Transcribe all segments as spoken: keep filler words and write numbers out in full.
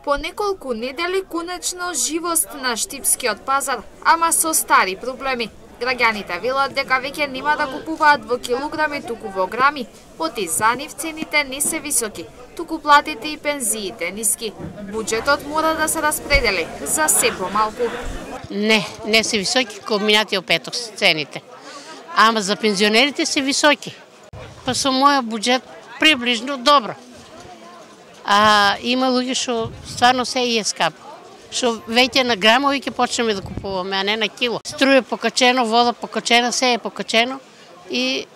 По неколку недели конечно живост на штипскиот пазар, ама со стари проблеми. Граѓаните велат дека веќе нема да купуваат во килограми, туку во грами, оти за нив цените не се високи, туку платите и пензиите ниски. Буџетот мора да се распредели за се помалку. Не, не се високи како минатиот петок цените. Ама за пензионерите се високи. Па со мојот буџет приближно добро. А има луѓе што стварно се и е скапо. Што веќе на грамови ќе почнеме да купуваме, а не на кило. Струја покачено, вода покачена, се е покачено и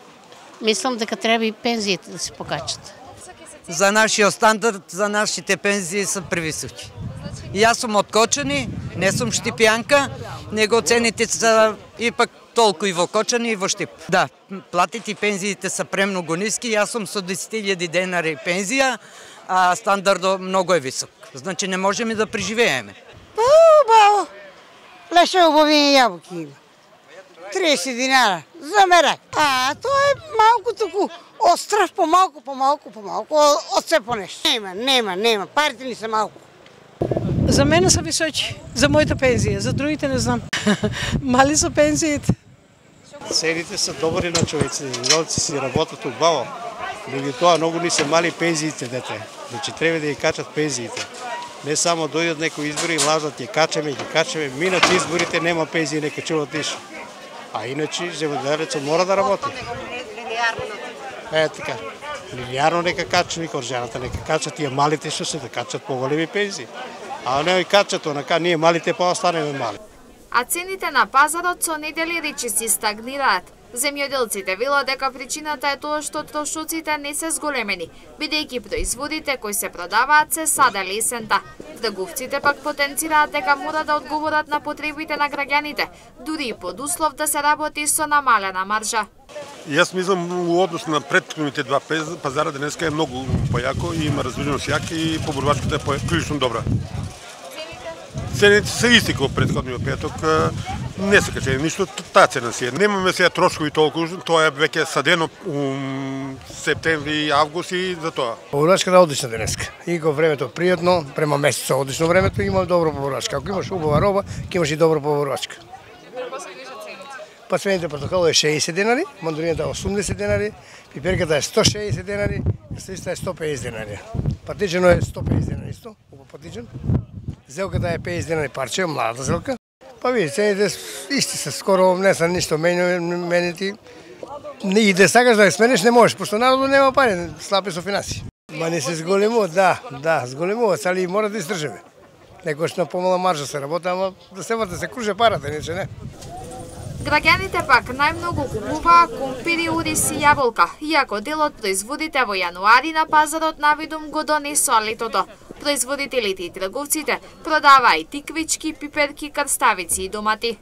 мислам дека треба и пензиите да се покачат. За нашиот стандард, за нашите пензии се превисоки. И јас сум од Кочани, не сум штипјанка, него цените се ипак толку и во Кочани и во Штип. Да, платите и пензиите се премногу ниски, јас сум со десет илјади денари пензија, а стандардот многу е висок. Значи не можеме да преживееме. Убаво. Леше убави јабуки има. тридесет динара за мерак. А, тоа е малку туку острав, помалку, помалку, помалку, од се по нешто. Нема, нема, нема, парите ни се малку. За мене се високи, за мојата пензија, за другите не знам. Мали се пензиите. Цените се добри на човеци, жолци си работат убаво. Меѓу тоа многу ни се мали пензиите, дете. Значи треба да ја качат пензиите. Не само дојдат некои избори и лажат, ја качаме, ја качаме. Минат изборите нема пензии, не качуват ништо. А иначе земјоделецот мора да работи. Е така. Линеарно нека качат, никој жената нека качат, тие малите што се да качат поголеми пензии. А не качат онака, ние малите па останеме мали. А цените на пазарот со недели речиси стагнираат. Земјоделците велат дека причината е тоа што трошоците не се зголемени, бидејќи производите кои се продаваат се саделе есента. Трговците пак потенцираат дека мора да одговорат на потребите на граѓаните, дури и под услов да се работи со намалена маржа. Јас мислам во однос на претходните два пазара денеска е многу појако и има развивеност јака и поборувачката е прилично добра. Цените се исти како претходниот петок, не се качени ништо, таа цена си е. Немаме сега трошкови толку, тоа е веќе садено у септември и август и за тоа. Поборувачката е одлична денеска. И го времето пријатно, према месецот одлично времето, има добро поборувачка. Ако имаш убава роба, ќе имаш и добро поборувачка. Па цените портокало е шеесет денари, мандурината е осумдесет денари, пиперката е сто шеесет денари, крстиста е сто пеесет денари. Патичено е сто пеесет денари исто, убав патичен. Зелката е пеесет денари парче, младата зелка. Па види, цените исти се, скоро не са ништо менети. И да сакаш да ја смениш не можеш, пошто народот нема пари, слаб е со финанси. Ма не се зголемуваат, да, да, зголемуваат, али мора да издржиме. Некојаш на помала маржа се работа, ама да се врте, се круже парата, иначе не. Граѓаните пак најмногу купуваа кумпири, ориз и јаболка, иако дел од производите во јануари на пазарот навидум го донесоа летото. Производителите и трговците продаваа и тиквички, пиперки, крставици и домати.